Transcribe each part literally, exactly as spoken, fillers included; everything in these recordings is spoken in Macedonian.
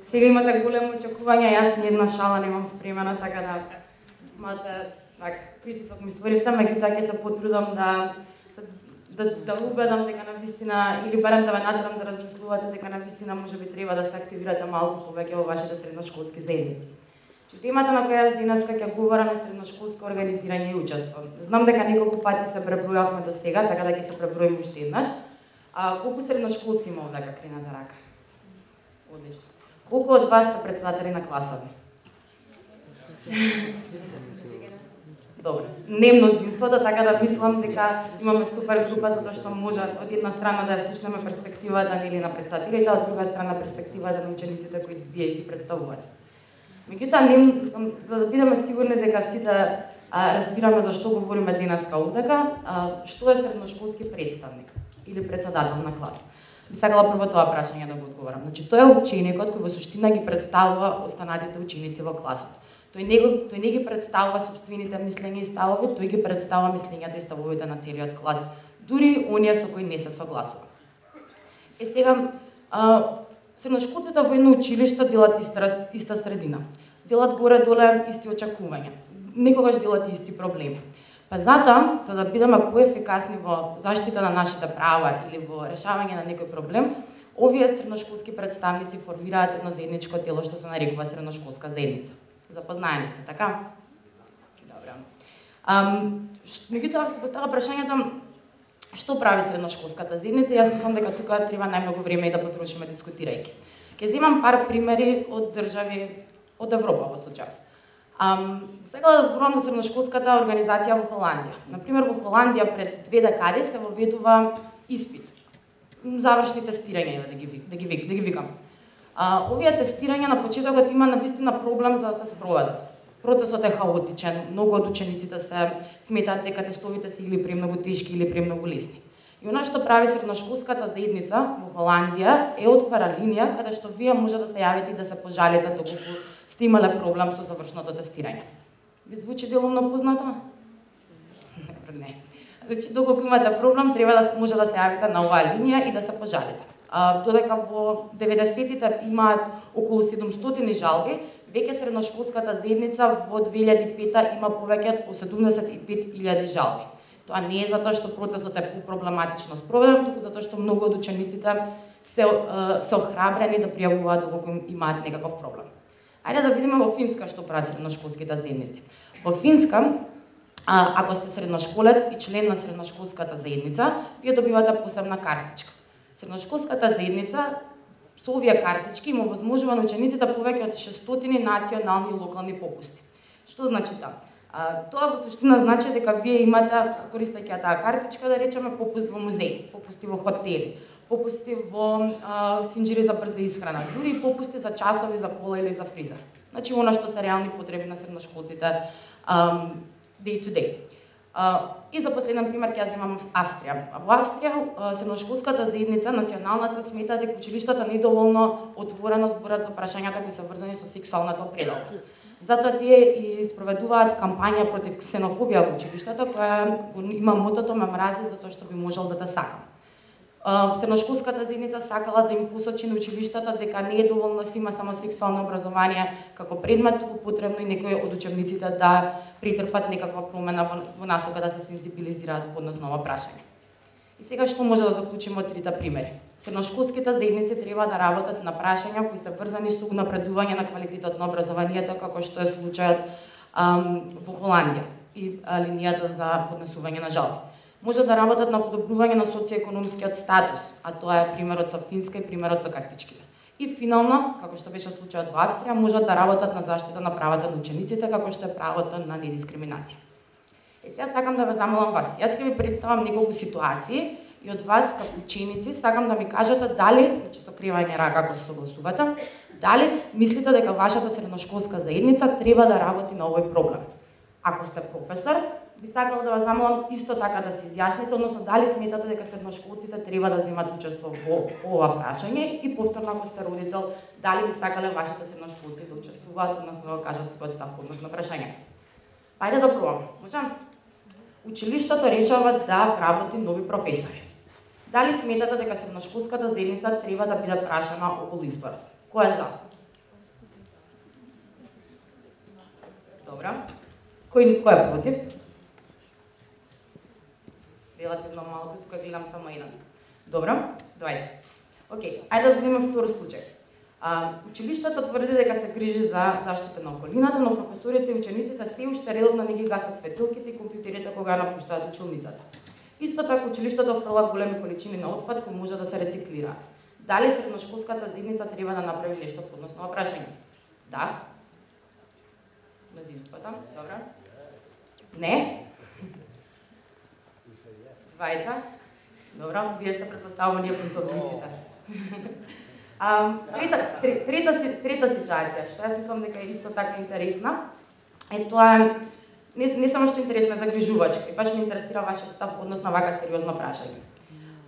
Сега имате големо очекување, јас ни една шала немам спремена, така да имате так притисок ми створивте, меѓутоа ќе се потрудам да да да убедам дека навистина или барем да ве натерам да размислувате дека навистина можеби треба да се активирате малку повеќе во вашите средношколски заедници. Че темата на која јас денеска ќе говорам е средношколско организирање и учество. Знам дека неколку пати се пребројавме до сега, така да ќе се преброиме уште еднаш. А колку средношколци има овде, како крената рака? Одлично. Колку од вас сте председатели на класови? Добро. Не мнозинството, така да мислам дека имаме супер група затоа што може од една страна да ја слушнеме перспективата нели на председателите, а од друга страна перспективата на учениците кои вие ги представувате. Меѓутоа, не за да бидеме сигурни дека сите а, разбираме за што говориме денеска овдека, а, што е средношколски представник или председател на клас. Би сакала прво тоа прашање да го одговорам. Значи, тој е ученикот кој во суштина ги представува останатите ученици во класот. Тој не, го, тој не ги представува собствените мислења и ставови, тој ги представува мислењата и ставовите на целиот клас, дури оние со кои не се согласува. Е сега, а, средношколците во едно училиште делат иста, иста средина. Делат горе-доле исти очекувања. Некогаш делат исти проблеми. Па затоа, за да бидеме поефикасни во заштита на нашите права или во решавање на некој проблем, овие средношколски представници формираат едно заедничко тело што се нарекува средношколска заедница. Запознаени сте, така? Добро. Ам, меѓутоа се постава прашањето што прави средношколската заедница? Јас мислам дека тука треба најмногу време и да потрошиме дискутирајќи. Ќе земам пар примери од држави од Европа во случај. Ам, сега да зборувам за средношколската организација во Холандија. Например, во Холандија пред две декади се воведува испит. Завршни тестирања, да ги, да ги, да ги викам. А, овие тестирања на почетокот има навистина проблем за да се спроведат. Процесот е хаотичен, многу од учениците се сметаат дека тестовите се или премногу тешки или премногу лесни. И она што прави средношколската заедница во Холандија е отвара линија каде што вие може да се јавите и да се пожалите доколку сте имале проблем со завршното тестирање. Ви звучи делумно познато? Не. Значи, доколку имате проблем, треба да може да се јавите на оваа линија и да се пожалите. А, додека во деветдесетите имаат околу седумстотини жалби, веќе средношколската заедница во две илјади и пета има повеќе од седумдесет и пет илјади жалби. Тоа не е затоа што процесот е проблематично спроведен, туку затоа што многу од учениците се се охрабрени да пријавуваат доколку имаат некаков проблем. Ајде да видиме во Финска што прават средношколските заедници. Во Финска, а, ако сте средношколец и член на средношколската заедница, вие добивате посебна картичка. Средношколската заедница со овие картички има возможува на учениците повеќе од шестстотини национални и локални попусти. Што значи тоа? А, тоа во суштина значи дека вие имате, користејќи таа картичка, да речеме попуст во музеи, попусти во хотели, попусти во а, синџири за брза исхрана, дури и попусти за часови за кола или за фризер. Значи она што се реални потреби на средношколците um, day to day. Uh, и за последен пример ќе ја земам Австрија. Во Австрија средношколската заедница националната смета дека училиштата недоволно отворено зборат за прашањата кои се врзани со сексуалната определба. Затоа тие и спроведуваат кампања против ксенофобија во училиштата, која има мотото ме мрази затоа што би можел да те сакам. Средношколската заедница сакала да им посочи на училиштата дека не е доволно да се има само сексуално образование како предмет, туку потребно и некои од учебниците да претрпат некаква промена во, во насока да се сензибилизираат по однос на ова прашање. И сега што може да заклучиме од трите примери? Средношколските заедници треба да работат на прашања кои се врзани со напредување на квалитетот на образованието, како што е случајот ам, во Холандија и а, линијата за поднесување на жалби. Може да работат на подобрување на социоекономскиот статус, а тоа е примерот со Финска и примерот со картичките. И финално, како што беше случајот во Австрија, можат да работат на заштита на правата на учениците, како што е правото на недискриминација. Е, сега сакам да ве замолам вас. Јас ќе ви представам неколку ситуации и од вас како ученици сакам да ми кажете дали, значи со кривање рака ако се согласувате, дали мислите дека вашата средношколска заедница треба да работи на овој проблем. Ако сте професор, би сакала да ве замолам исто така да се изјасните, односно дали сметате дека средношколците треба да земат учество во ова прашање и повторно ако сте родител, дали би сакале вашите средношколци да учествуваат, односно да кажат својот став по однос на прашањето. Ајде да пробам. Можам? Училиштето решава да работи нови професори. Дали сметате дека средношколската заедница треба да биде прашана околу изборот? Кој е за? Добро. Кој кој е против? Релативно малку, тука гледам само еден. Добро, доаѓајте. Океј, ајде да видиме втор случај. А, училиштето тврди дека се грижи за заштита на околината, но професорите и учениците се уште редовно не ги гасат светилките и компјутерите кога напуштаат училницата. Исто така училиштето фрла големи количини на отпад кои може да се рециклираат. Дали средношколската заедница треба да направи нешто по однос на прашање? Да. Мнозинството, добро. Не? Двајца? Добро, вие сте претпоставувам ние контовниците. А, трета, трета, трета ситуација, што јас мислам дека е исто така интересна, е тоа е, не, не само што е интересна, загрижувачка, и баш ме интересира вашиот став однос на вака сериозно прашање.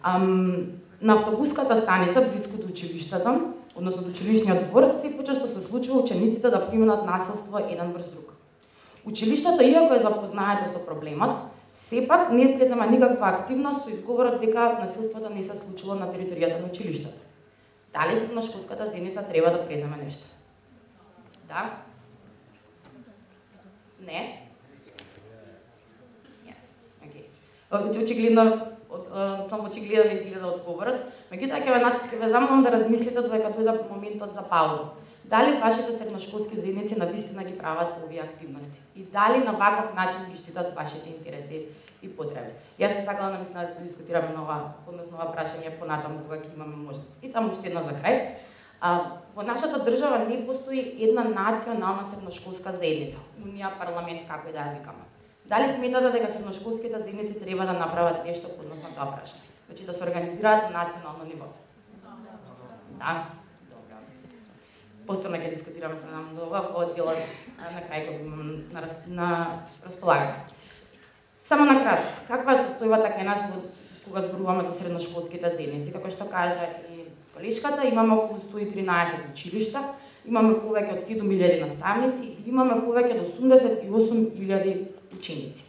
Ам, на автобуската станица, близко до училиштето, односно до училишниот двор, се почесто се случува учениците да приминат насилство еден врз друг. Училиштето, иако е запознаето со проблемот, сепак не презема никаква активност со изговорот дека насилството не се случило на територијата на училиштето. Дали средношколската заедница треба да преземе нешто? Да? Не? Океј. Очигледно, само очигледно изгледа одговорот, меѓутоа ќе ве ве замолам да размислите додека дојде моментот за пауза. Дали вашите средношколски заедници навистина ги прават овие активности? И дали на ваков начин ги штитат вашите интереси и потреби? Јас би сакала навистина да дискутираме нова, односно ова прашање понатаму кога ќе имаме можност. И само уште едно за крај. А, во нашата држава не постои една национална средношколска заедница, унија, парламент, како и да ја викаме. Дали сметате дека средношколските заедници треба да направат нешто по однос на тоа прашање? Значи да се организираат на национално ниво? Да. Повторно ќе дискутираме се на ова во одделот на крај кога имам на, на располагање. Само на кратко, каква е состојбата кај нас кога зборуваме за средношколските заедници? Како што кажа и колешката, имаме околу сто и тринаесет училишта, имаме повеќе од седум илјади наставници и имаме повеќе од осумдесет и осум илјади ученици.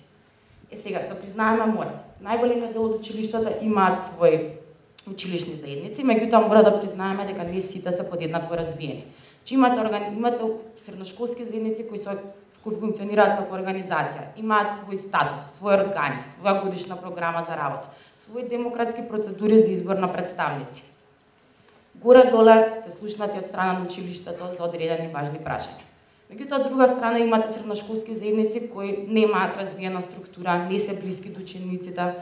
Е сега, да признаеме мора, најголемиот дел од училиштата имаат своји училишни заедници, меѓутоа мора да признаеме дека не сите се подеднакво развиени. Че имате, орган... имате средношколски заедници кои, со... кои функционираат како организација, имаат свој статут, свој органи, своја годишна програма за работа, свои демократски процедури за избор на представници. Горе-доле се слушнати од страна на училиштето за одредени важни прашања. Меѓутоа, од друга страна имате средношколски заедници кои немаат развиена структура, не се блиски до учениците,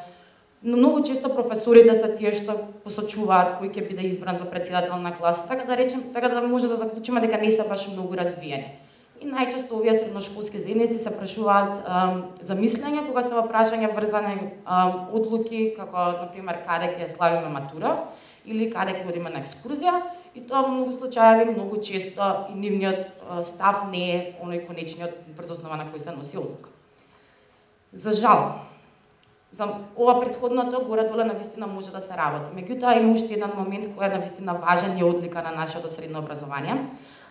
но многу често професорите се тие што посочуваат кој ќе биде избран за претседател на клас, така да речем, така да може да заклучиме дека не се баш многу развиени. И најчесто овие средношколски заедници се прашуваат а, за мислење кога се во прашања врзани а, одлуки, како на пример каде ќе славиме матура или каде ќе одиме на екскурзија, и тоа во многу случаи многу често и нивниот а, став не е оној конечниот врз основа на кој се носи одлука. За жал, за ова претходното горе-доле навистина може да се работи. Меѓутоа има уште еден момент кој е навистина важен и одлика на нашето средно образование,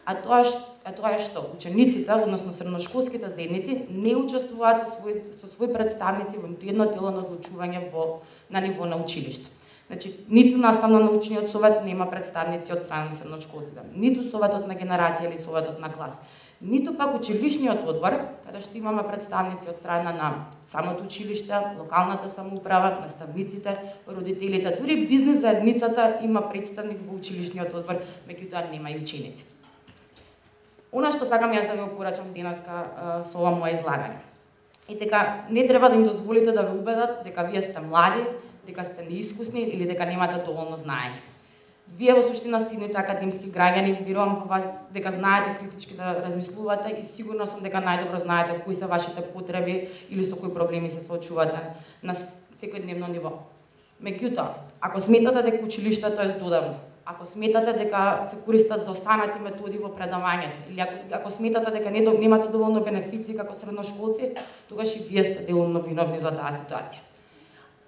а тоа е, а тоа е што учениците, односно средношколските заедници, не учествуваат со свој, со свој представници во ниту едно тело на одлучување во, на ниво на училиште. Значи, ниту наставно-научниот совет нема представници од страна на средношколците, ниту советот на генерација или советот на клас, ниту пак училишниот одбор, каде што имаме представници од страна на самото училиште, локалната самоуправа, наставниците, родителите, дури бизнес заедницата има представник во училишниот одбор, меѓутоа нема и ученици. Она што сакам јас да ви опорачам денеска со ова моje излагање. И дека не треба да им дозволите да ве убедат дека вие сте млади, дека сте неискусни или дека немате доволно знаење. Вие во суштина стигнете академски граѓани, верувам во вас дека знаете критички да размислувате и сигурно сум дека најдобро знаете кои се вашите потреби или со кои проблеми се соочувате на секојдневно ниво. Меѓутоа, ако сметате дека училиштето е здодевно, ако сметате дека се користат за останати методи во предавањето, или ако, ако сметате дека не, немате доволно бенефиции како средношколци, тогаш и вие сте делумно виновни за таа ситуација.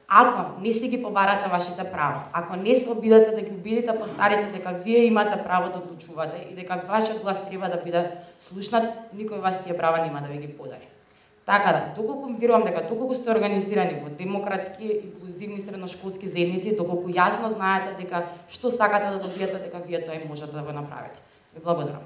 Ако не си ги побарате вашите права, ако не се обидете да ги убедите постарите дека вие имате право да одлучувате и дека вашиот глас треба да биде слушнат, никој вас тие права нема да ви ги подари. Така да, доколку верувам дека доколку сте организирани во демократски, инклузивни средношколски заедници, доколку јасно знаете дека што сакате да добиете, дека вие тоа и можете да го направите. Ви благодарам.